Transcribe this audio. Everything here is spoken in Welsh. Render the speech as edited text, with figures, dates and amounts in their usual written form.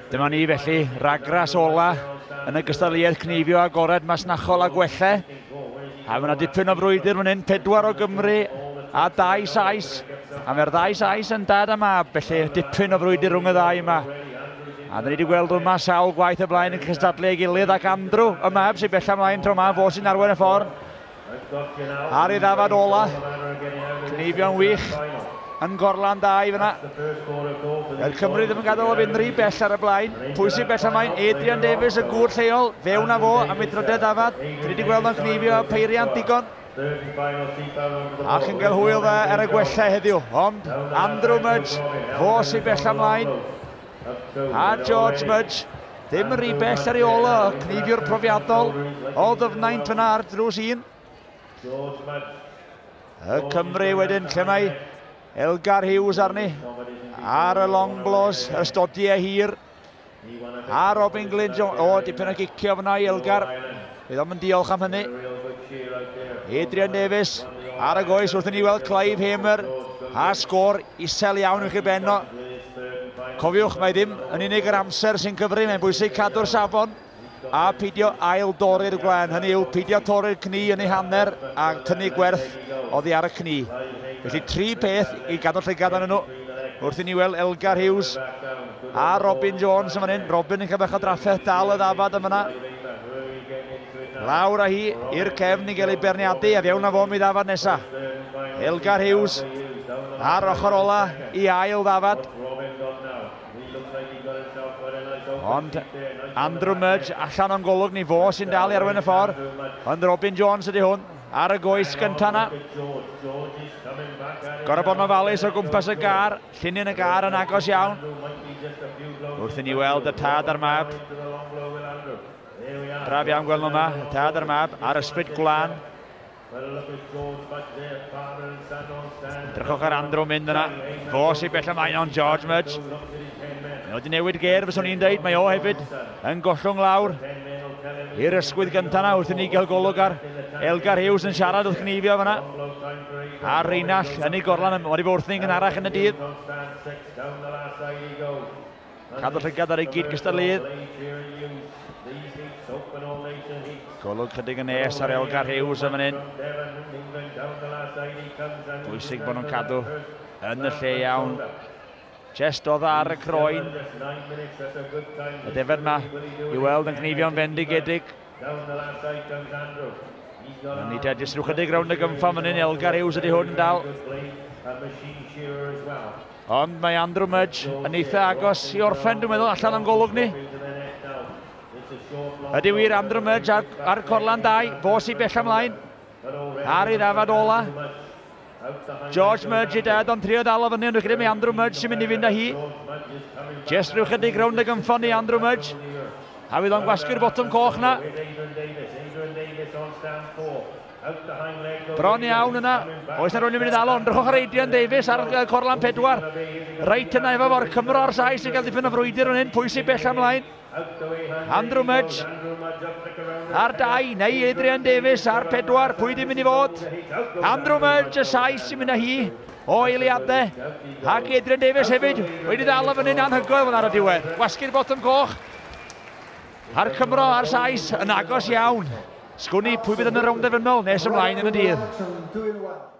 Dyma ni felly, ragras ola yn y gystadleuaeth cneifio agored masnachol a gwelle. A mae yna dipyn o frwydr fan hyn, 4 o Gymru a 2 Sais. A mae'r ddau Sais yn dad a mab, felly dipyn o frwydr rhwng y ddau yma. A dyn ni wedi gweld yma sawl gwaith y blaen yn cystadlu ei gilydd, ac Andrew, y mab sy'n bella ymlaen tro yma, fo sy'n arwain y ffordd. Ar ei ddafad ola, cneifio'n wych, yn gorlan da i fyna. Yr Cymru ddim yn gadael o fynd rhy bell ar y blaen. Pwy sy'n bell ymlaen? Adrian Davies, y gŵr lleol, fewn â fo am ei drydedd ddafad. Dyn ni wedi gweld o'n cneifio peiriant digon. Ac yn cael hwyl dda ar y gwella heddiw. Ond Andrew Mudge, fo sy'n bell ymlaen. A George Mudge, ddim yn rhy bell ar ei ôl o, cneifiwr profiadol o Ddyfnaint fyna ar drws 1. Y Cymru wedyn, lle mae Elgar Hughes arni, ar y long blows, y stodiau hir, a Robin Glyn Jones, o, dipyn o gicio fyna i Elgar, bydd o'm yn diolch am hynny. Adrian Davies ar y goes wrth i ni weld Clive Hamer a sgôr isel iawn uwch ei ben o. Cofiwch, mae ddim yn unig yr amser sy'n cyfri, mae'n bwysig cadw'r safon a peidio ail dorri'r gwlân. Hynny yw, peidio torri'r cni yn ei hanner a tynnu gwerth oddi ar y cni. Felly tri peth i gadw llygad arnyn nhw. Wrth i ni weld Elgar Hughes a Robin Jones yn fan hyn. Robin yn cael bach o drafferth dal y ddafad yn fyna. Lawr â hi i'r cefn i gael ei berniadu a fewn â fo mi ddafad nesa. Elgar Hughes ar ochr ola i ail ddafad. Ond Andrew Mudge allan o'n golwg ni, fo sy'n dal i arwain y ffordd. Ond Robin Jones ydy hwn ar y goes gyntaf na. Gorau bod yn ofalus o gwmpas y gar, llinyn y gar yn agos iawn. Wrth i ni weld y tad a'r mab. Braf iawn gweld nhw yma, y tad a'r mab, ar ysbryd gwlân. Edrychwch ar Andrew mynd yna. Fo sy'n bell ymlaen ond George Mudge. Mae o wedi newid ger, fyswn i'n deud. Mae o hefyd yn gollwng lawr i'r ysgwydd gyntaf yna wrth i ni gael golwg ar Elgar Hughes yn siarad wrth gneifio fyna. A Reinall yn ei gorlan wedi bod wrth ni'n gynharach yn y dydd. Cadw llygad ar ei gyd gystadleuydd. Golwg chydig yn nes ar Elgar Hughes yn fan hyn. Bwysig bod nhw'n cadw yn y lle iawn. Jest oedd ar y croen. Y defed yma i weld yn cneifio'n fendigedig. Ni te, jyst rhyw chydig rownd y gymffa fan hyn, Elgar Hughes ydy hwn yn dal. Ond mae Andrew Mudge yn eitha agos i orffen, dwi'n meddwl, allan o'n golwg ni. Ydy wir Andrew Mudge ar Corlan 2, fo sy'n bell ymlaen. Ar ei ddafad ola. George Mudge i dad, ond trio dal o fyny, ond dwi'n credu mae Andrew Mudge sy'n mynd i fynd â hi. Just rhyw chydig rownd y gymffon i Andrew Mudge. A fydd o'n gwasgu'r botwm coch na. Bron iawn yna. Oes na rhywun yn mynd i ddal o? Edrychwch ar Adrian Davies ar Corlan 4. Reit yna efo fo'r Cymro a'r Sais yn cael dipyn o frwydr yn hyn. Pwy sy'n bell ymlaen? Andrew Mudge ar 2, neu Adrian Davies ar 4. Pwy di'n mynd i fod? Andrew Mudge, y Sais sy'n mynd â hi o eiliadau. Ac Adrian Davies hefyd wedi ddal o fyny'n anhygoel fan ar y diwedd. Gwasgu'r botwm coch. A'r Cymro a'r Sais yn agos iawn. Sgwn i pwy bydd yn y rownd derfynol nes ymlaen yn y dydd.